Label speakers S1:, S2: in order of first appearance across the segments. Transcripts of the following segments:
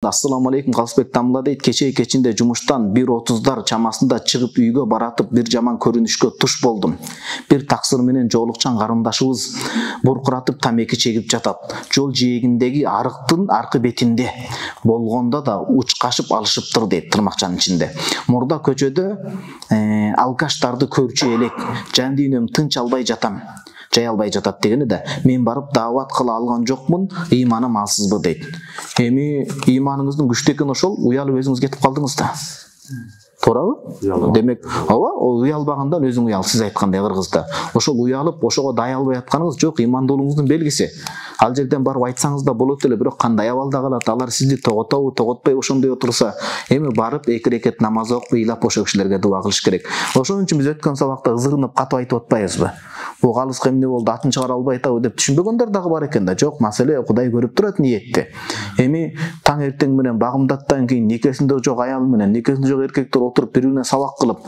S1: Assalamu alaikum Калысбек Тамла дейт. Кечинде жумуштан 1:30 чамасында чыгып үйгө баратып бир жаман көрүнүшкө туш болдум. Бир таксыр менен жоолукчан карындашыбыз буркуратып тамеки чегип жатат. Жол жээгиндеги арыктын аркы бетинде болгондо да учкашып алышыптыр дейт тырмакчанын ичинде. Мурда көчөдө алкаштарды көрчү элек. Жан дүйнөм тынч албай жатам. Жай албай жатат дегени да мен барып даават кыла алган жокмун, ыйманым алсызбы дейт. Эми ыйманыңыздын күчтүү экени ошол, уялып өзүңүз кетип калдыңыз да. Туурабы? Демек, ооба, уялбагандан өзүң уял, сиз айткандай кыргызда. Ошол уялып, ошого дай албай атканыңыз жок, ыймандуулугуңуздун белгиси. Ал жерден барып айтсаңыз да болот эле, бирок кандай абалда калат, алар сизди тоготобу, тоготпой ошондой отурса, эми барып 2 рекет намаз окуп, ыйлап ошол кишилерге дуа кылыш керек. Ошон үчүн биз өткөн сабакта ызырынып катып айтып атпайбызбы? Бул калыска эмне болду, атын чыгара албай атабы деп түшүнбөгөндөр дагы бар экен да. Жок, маселе Кудай көрүп турат ниетти. Эми таң эртең менен багымдаттан кийин никесинде жок аял менен, никесинде жок эркектер отуруп бири-бирине сабак кылып,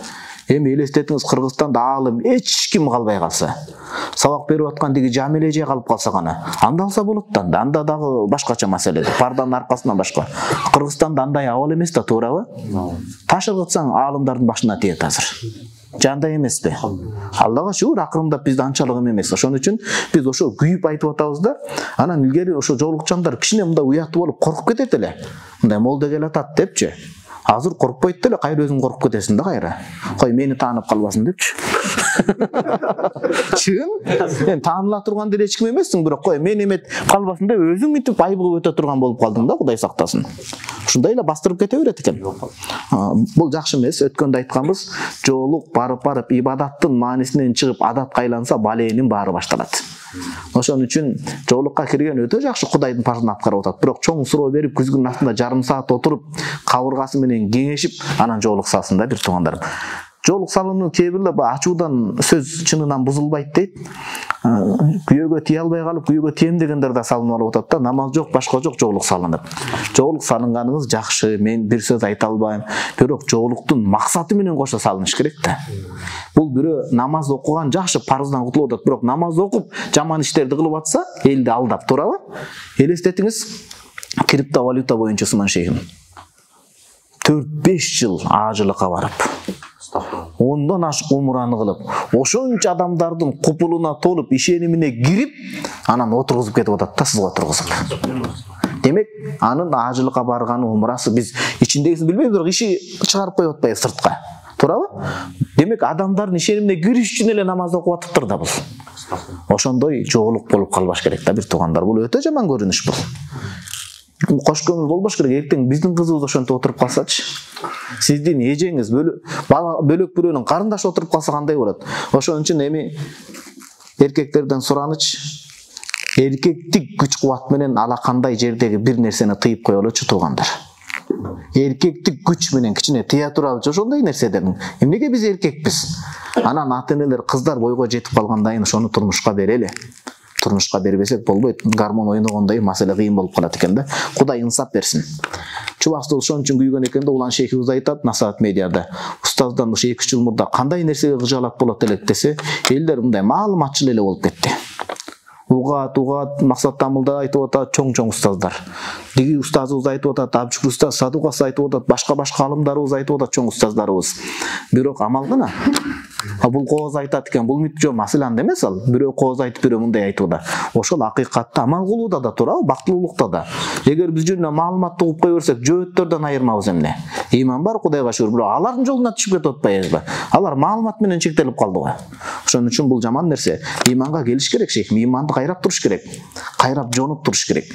S1: эми элестетиңиз Кыргызстанда аалым эч ким калбай калса, сабак берип аткан тиги Жамил эже калып калса гана, анда алса болот да, анда дагы башкача маселе. Парданын аркасынан башка. Кыргызстанда андай абал эмес да, туурабы? Таш ыргытсаң аалымдардын башына тиет азыр. Жандай эмеспи? Аллага шүгүр, акырындап бизде анчалык эмес. Ошон үчүн биз ошо күйүп айтып атабыз да. Анан илгери ошо жоолукчандар кичине мындай уяттуу болуп коркуп кетет эле. Мындай молда келатат депчи. Азыр коркпойт деле, кайра өзүң коркуп кетесиң да кайра. Кой мени таанып калбасын депчи. Чын? Мен тааныла турган деле эч ким эмессиң, бирок кой мени эмет калбасын деп өзүң мынтип айбыгып өтө турган болуп калдың да, Кудай сактасын. Ушундай эле бастырып кете берет экен. Бул жакшы эмес. Өткөндө айтканбыз, жоолук барып ибадаттын маанисинен чыгып адатка айланса, баленин баары башталат. Ошон үчүн жоолукка кирген өтө жакшы Кудайдын парызын аткарып атат. Бирок чоң суроо берип, күзгүнүн астында жарым саат отуруп, кабыргасы менен кеңешип, анан жоолук салсын да, бир туугандарым. Жоолук салууну кээ бирлер ачуудан сөз чынынан бузулбайт дейт. Күйөөгө тие албай калып, күйөөгө тием дегендер да салынып алып атат да. Намаз жок, башка жок, жоолук салынып. Жоолук салынганыңыз жакшы, мен бир сөз айта албайм. Бирок жоолуктун максаты менен кошо салыныш керек да. Бул бирөө намаз окуган жакшы, парыздан кутулуп атат, бирок намаз окуп жаман иштерди кылып атса, элди алдап, туурабы? Элестетиңиз, криптовалюта боюнча Усман шейхим 4-5 жыл ажылыкка барып, ондан ашык умураны кылып, ошончо адамдардын купулуна толуп, ишенимине кирип, анан отургузуп кетип атат да, сизге отургузуп. Демек, анын ажылыкка барганы умурасы биз ичиндегисин билбейбиз, бирок иши чыгарып коюп атпайбы сыртка. Туурабы? Демек, адамдардын ишенимине кириш үчүн эле намаз окуп атыптыр да бул. Ошондой жоолук болуп калбаш керек да, бир туугандар. Бул өтө жаман көрүнүш бул. Кош көңүл болбош керек. Эртең биздин кызыбыз ошентип отуруп калсачы, сиздин эжеңиз бөлөк бирөөнүн карындашы отуруп калса кандай болот? Ошон үчүн эми эркектерден суранычы, эркектик күч кубат менен ала кандай жердеги бир нерсени тыйып коелучу туугандар. Эркектик күч менен кичине тыя туралычы ошондой нерседен. Эмнеге биз эркекпиз? Анан ата-энелер кыздар бойго жетип калгандан кийин ошону турмушка берели. Турмушка бербесек болбойт. Гармон ойногондой маселе кыйын болуп калат экен да. Кудай инсап берсин. Чубакты ошон үчүн күйгөн экен да, Улан шейхибиз айтат Насаат медиада. Устаздан ушу 2 жыл мурда кандай нерсеге кыжаалат болот элек десе, элдер мындай маалыматчыл эле болуп кетти. Угат, Максат Тамылда айтып атат, чоң устаздар. Диги устазыбыз айтып атат, Абчук устаз, Садугас айтып атат, башка алымдарыбыз айтып атат, чоң устаздарыбыз. Бирок амал гана. Бул кооз айтат экен, бул жок, маселе анда эмес ал. Бирөө кооз айтып, бирөө мындай айтууда. Ошол акыйкатта амал кылууда да туурабы, бактылуулукта да. Эгер биз жөнүнө маалыматты угуп кое берсек, жөөттөрдөн айырмабыз эмне? Ыйман бар, Кудайга шүгүр, бирок алардын жолуна түшүп кетип атпайбызбы? Алар маалымат менен чектелип калдыбы? Ошон үчүн бул жаман нерсе. Ыйманга келиш керек, шейхим, ыйманды кайрап туруш керек. Кайрап жонуп туруш керек.